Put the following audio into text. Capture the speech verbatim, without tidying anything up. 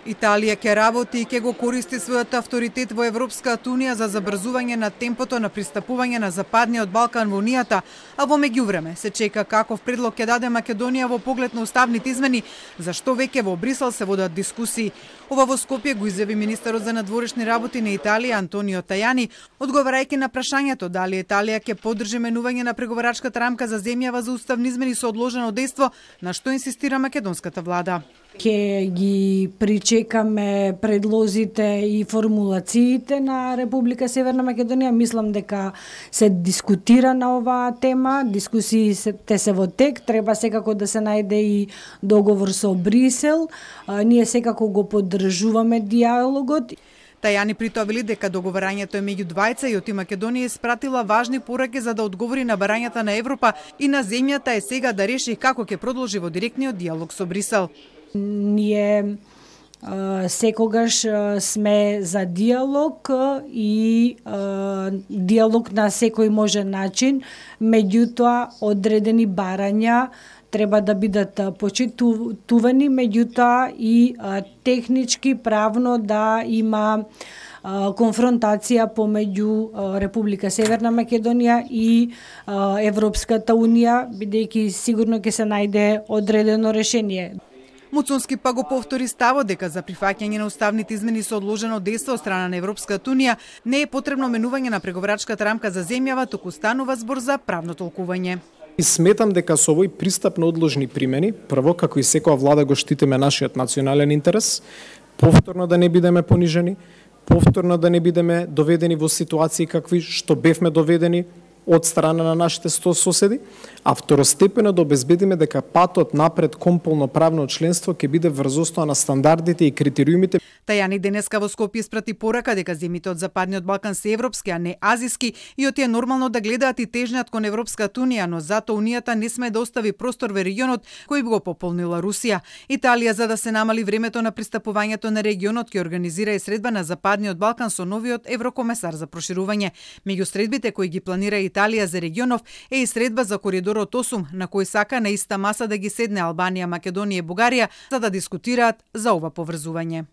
Италија ќе работи и ќе го користи својот авторитет во Европската унија за забрзување на темпото на пристапување на Западниот Балкан во Унијата, а во меѓувреме се чека каков предлог ќе даде Македонија во поглед на уставните измени, за што веќе во Брисел се водат дискусии. Ова во Скопје го изјави министерот за надворешни работи на Италија Антонио Тајани, одговарајќи на прашањето дали Италија ќе поддржи менување на преговарачката рамка за земјава за уставни измени со одложено дејство, на што инсистира македонската влада. Ке ги причекаме предлозите и формулациите на Република Северна Македонија. Мислам дека се дискутира на оваа тема, дискусиите се во тек, треба секако да се најде и договор со Брисел. А, ние секако го поддржуваме диалогот. Тајани при тоа вели дека договарањето е меѓу двајца и оти Македонија испратила важни пораки за да одговори на барањата на Европа и на земјата е сега да реши како ќе продолжи во директниот диалог со Брисел. Ние а, секогаш а, сме за диалог а, и а, диалог на секој можен начин, меѓутоа одредени барања треба да бидат почитувани, меѓутоа и а, технички, правно да има а, конфронтација помеѓу Република Северна Македонија и а, Европската унија, бидејќи сигурно ќе се најде одредено решение. Муцунски па го повтори ставот дека за прифаќање на уставните измени со одложено дејство од страна на Европската унија не е потребно менување на преговарачката рамка за земјава, туку станува збор за правно толкување. И сметам дека со овој пристап на одложни примени, прво како и секоја влада го штитиме нашиот национален интерес, повторно да не бидеме понижени, повторно да не бидеме доведени во ситуации какви што бевме доведени од страна на нашите сто соседи, а второстепено да обезбедиме дека патот напред кон полноправно членство ќе биде врз основа на стандардите и критериумите. Тајани денеска во Скопје испрати порака дека земјите од Западниот Балкан се европски, а не азиски, и оти е нормално да гледаат и тежнат кон Европската унија, но затоа Унијата не сме да остави простор во регионот кој би го пополнила Русија. Италија, за да се намали времето на пристапувањето на регионот, ќе организира и средба на Западниот Балкан со новиот еврокомесар за проширување. Меѓу средбите кои ги планира Италија за регионов е и средба за коридорот осум, на кој сака на иста маса да ги седне Албанија, Македонија и Бугарија за да дискутираат за ова поврзување.